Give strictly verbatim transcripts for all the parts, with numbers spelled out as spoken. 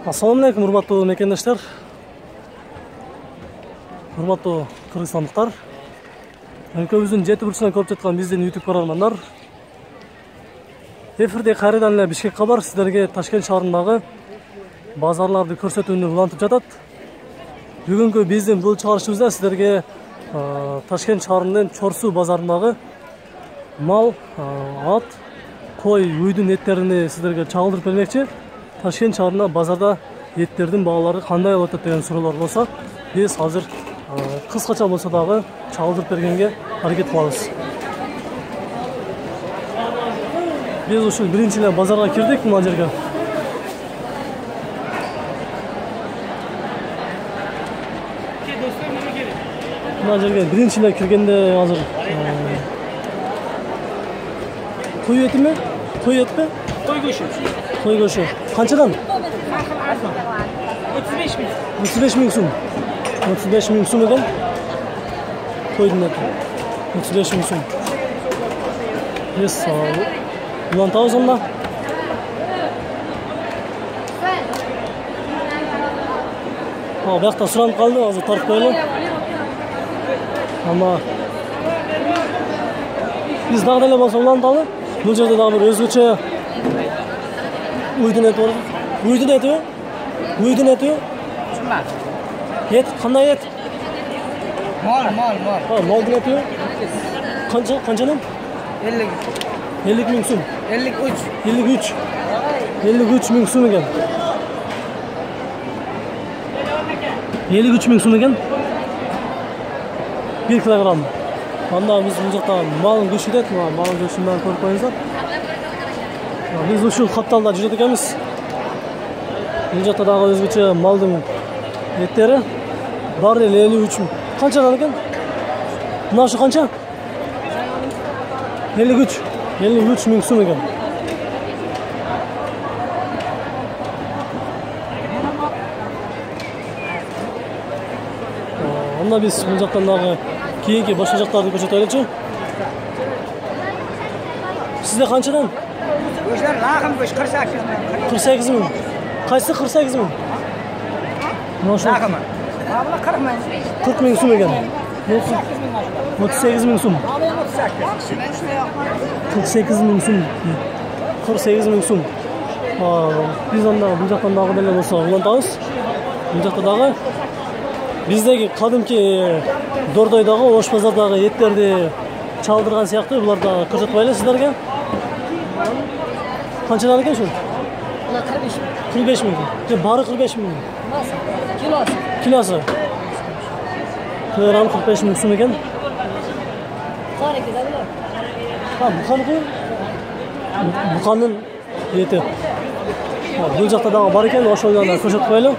Assalamu alaikum, урматтуу мекендештер. Урматтуу кыргызстандыктар. Өлкөбүздүн жети бурчунан көрүп жаткан биздин YouTube көрөрмандар. Эфирде кайрадан эле Бишкек кабар сиздерге Ташкент шаарындагы базарларды көрсөтүүнү улантып жатат. Бүгүнкү биздин бул чыгарышыбызда сиздерге Ташкент шаарынын Чорсу базарындагы мал, ат, кой, уйдун эттерини сиздерге чагылдырып бермекчи. Ташкент шаарында базарда эттердин баалары кандай болуп атат деген суроолор болсо, биз азыр кыскача болсо дагы чагылдырып бергенге аракет кылабыз. Биз ушул биринчи эле базарга кирдик мына жерге. Мына жерге биринчи эле киргенде азыр кой этиби? Кой этпи? Кой көшү. Кой көшү. Канчадан? отуз беш миң. отуз беш миң сум. отуз беш миң сум экен. Койдун эти. отуз беш миң сум. Биз улантабыз анда. А, биякта суранып калды, азыр тартып коелу. Ама биз дагы деле болсо уланталы. Бул жерде дагы бир өзгөчө уйдун эти бар. Уйдун этиби? Уйдун этиби? Чумак. Эт, кандай эт? Мал, мал, мал. А, малдын этиби? Канча, канчадан? ellik. ellik миң сум. ellik uch. ellik uch. ellik uch миң сум экен. ellik uch миң сум экен. bir килограмм. Анда биз бул жакта малын көшүдөт, малын көшүн менен көрүп коюңуздар. Биз ушул капталда жүрөт экенбиз. Бул жакта дагы өзгөчө малдын эттери. Баары эле ellik uch миң. Канчадан экен? Мына ушу канча? ellik uch. ellik uch миң сум экен. Анда биз бул жактан дагы кийинки башка жактарды көрсөтөлүчү. Сизде канчадан? Көшөр лакым көш кырк сегиз миң. кырк сегиз миң. Кайсы кырк сегиз миң? Лакым. Абла кырк миң. кырк миң сум экен. отуз сегиз миң сум. кырк сегиз миң сум. кырк сегиз миң сум. Биз анда бул жактан дагы деле болсо улантабыз. Бул жакта дагы биздеги кадимки Дордойдогу Ош базардагы эттерди чалдырган сыяктуу булар да көрсөтпөйлү сиздерге. Канчадан экен ушул? кырк беш миң. Же баары кырк беш миң. Килосы. Килосы. Килограмм кырк беш миң сум экен. Кареки да булар. Ha, буканыкы? Буканын эти. Бул жакта дагы бар экен, ошол жерде көрсөтүп коелу.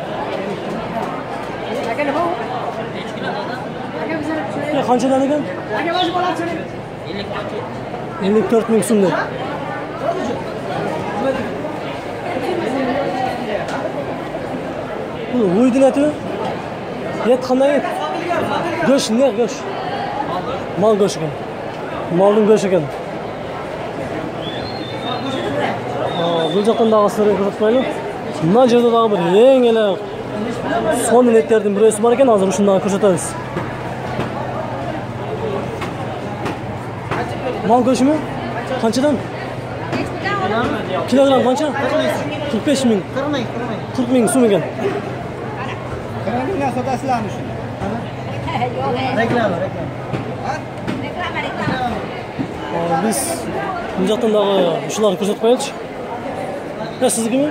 Канчадан экен? ellik төрт миң сум деп. Бул уйдун этиби? Эт кандай эт? Көш, не көш? Мал көш экен. Малдын көш экен. Бул жактан дагы сиздерге көрсөтүп коелу. Мына жерде дагы бир эң эле сонун эттердин бирөөсү бар экен, азыр ушуну дагы көрсөтөбүз. Мал көшүмү? Канчадан? Килограмм канча? кырк беш миң. кырк миң сум экен. Reklama sodasılarmış. Reklama, reklama. Биз бул жактан дагы ушуларды көрсөтүп коелучу. Э, сиздикими?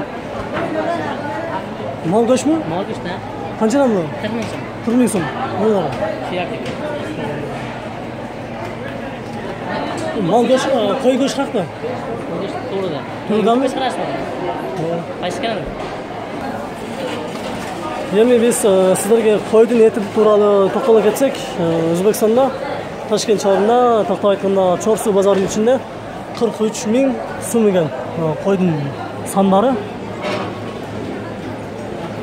Мал көчмү? Мал көч да. Канчадан бул? кырк миң сом. кырк миң сом. Мына. Мал көч, кой көч какта? Көч тууруда. Туурудамы? Көч карашты. Кайсы Эми биз сиздерге койдун эти тууралуу токтоло кетсек, Өзбекстанда Ташкент шаарында тактап айтканда Чорсу базарынын ичинде кырк үч миң сум экен койдун сандары.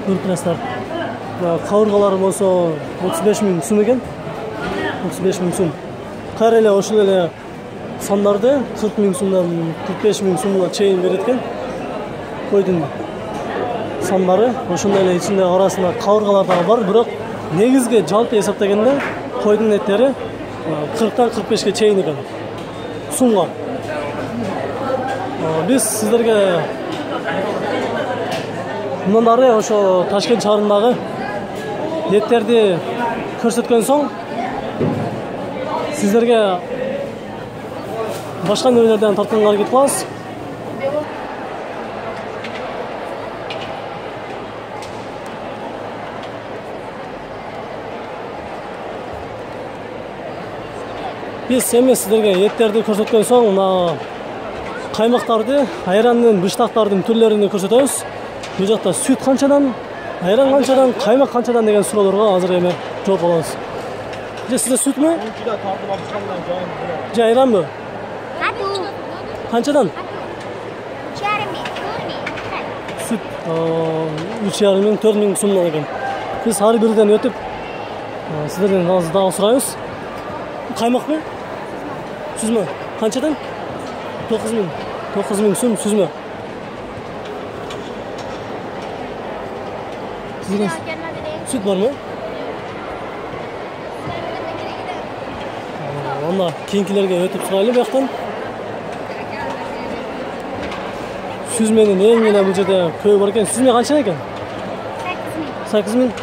Көрүп турасыздар. Кабыргалары болсо отуз беш миң сум экен. отуз беш миң сум. Кайра эле ошол эле сандарды кырк миң сумдан кырк беш миң сумга чейин берет экен. Койдун сандары, ошондой эле ичинде арасында кабыргалар дагы бар, бирок негизги жалпы эсептегенде койдун эттери кырктан кырк бешке чейин экен сумга. Биз сиздерге мындан ары ошо Ташкент шаарындагы эттерди көрсөткөн соң сиздерге башка нерселерден тартканга аракет кылабыз. Биз эми сиздерге эттерди көрсөткөн соң мына каймактарды, айрандын, быштактардын түрлөрүн көрсөтөбүз. Бул жакта сүт канчадан, айран канчадан, каймак канчадан деген суроолорго азыр эми жооп алабыз. Же сизде сүтмү? Же айранбы? Канчадан? Сүт үч жарым миң, төрт миң сомдон экен. Биз ар бирден өтүп сиздерден азыр дагы сурайбыз. Каймакпы? Сүзмө? Канчадан? тогуз миң. тогуз миң сом сүзмө. Сизде сүт бармы? Анда кийинкилерге өтүп сурайлы бияктан. Сүзменин эң эле бул жерде көбү бар экен. Сүзме канча экен? сакыз миң.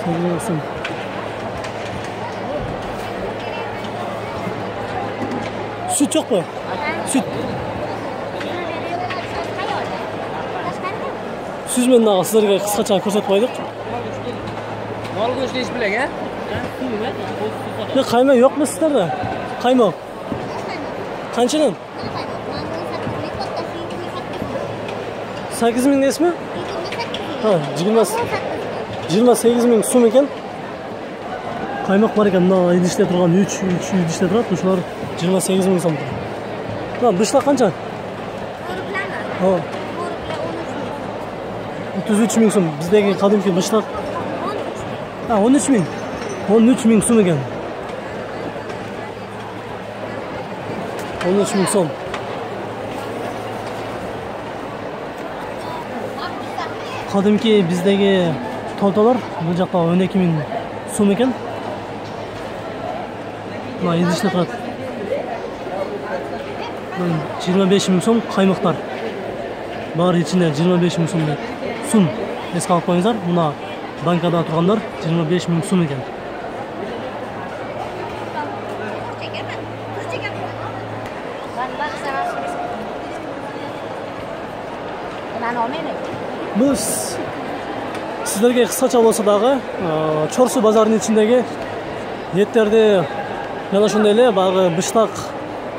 сакыз миң сом. Süt çok mu? Süt. Süzmen dağı sizlerge kıskaça ko'rsatib qo'ydik. Mol go'shti ish bilan, ha? Ne qayma yo'qmi sizlarda? Qaymoq. Qanchadan? sakkiz ming desmi? Ha, yigirma sakkiz ming so'm ekan. Qaymoq bor ekan, mana idishda turgan uch idishda turadi, o'shalar yigirma sakkiz ming so'm. Ha, bishlar qancha? Ha. o'ttiz uch ming so'm. Bizdagi qadimki bishlar. Ha, o'n uch ming. o'n uch ming so'm ekan. o'n uch ming so'm. Qadimki bizdagi toltolar bu yoqda o'n ikki ming so'm ekan. Mana idishda turadi. yigirma besh ming so'm qaymoqlar. Bari içinde yigirma besh ming so'm. So'm. Esga olib qo'yingizlar. Buna bankada turganlar yigirma besh ming so'm ekan. Bu sizlerge kısaça olsa dağı Çorsu bazarının içindeki etlerdi yana şunday ele bağı bıştak,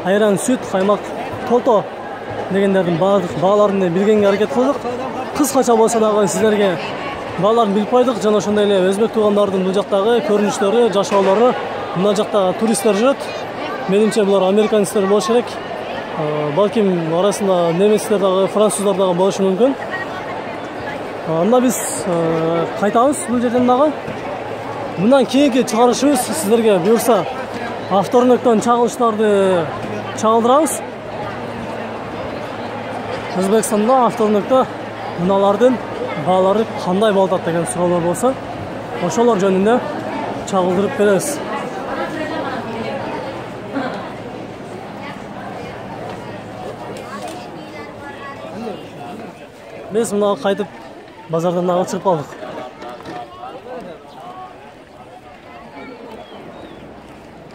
ayran, süt, kaymak, tolto degenlerden bağlarını bilgenge hareket kıldık. Kıskaça olsa dağı sizlerge bağlarını bilip koyduk. Jana şunday ele özbek tuğanlarının bu jaktagı körünüşleri, jaşaolары, mına jakta turistler жүрөт. Menimçe bular Amerikanistler болушу керек. Balkim arasında nemesler dağı, Fransızlar dağı болушу мүмкүн. Анда биз кайтабыз бул жерден дагы. Мындан кийинки чыгарышыбыз сиздерге буюрса авторунуктан чагылыштарды чагылдырабыз. Өзбекстанда авторунукта мыналардын баалары кандай болуп атат деген суроолор болсо, ошолор жөнүндө чагылдырып беребиз. Биз мына кайтып базардан дагы чыгып калдык.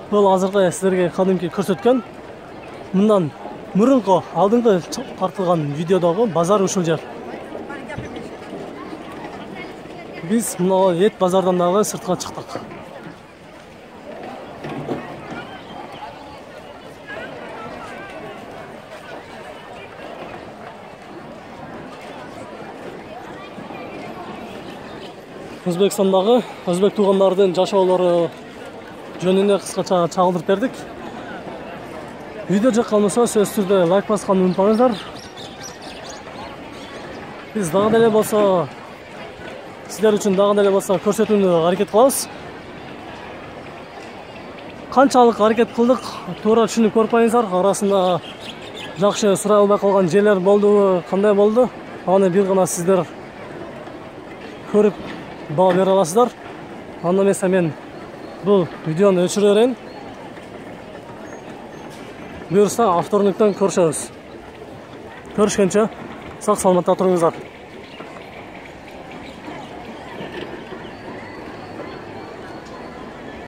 Бул азыркы сиздерге кадимки көрсөткөн мындан мурунку алдыңкы тартылган видеодогу базар ушул жер. Биз мына эт базардан дагы сыртка чыктык. Өзбекстандагы өзбек туугандардын жашоолору жөнүндө кыскача чагылдырып бердик. Видео жакка болсо сөзсүз түрдө лайк басканды унутпаңыздар. Биз дагы деле болсо сиздер үчүн дагы деле болсо көрсөтүүнү аракет кылабыз. Канчалык аракет кылдык, туура түшүнүп көрпөйүңүздар. Арасында жакшы сурай албай калган жерлер болдубу, кандай болду? Аны бир гана сиздер көрүп баа бере аласыздар. Анда эмесе мен бул видеону өчүрө берейин. Буюрса авторлуктан көрүшөбүз. Көрүшкөнчө сак саламатта туруңуздар.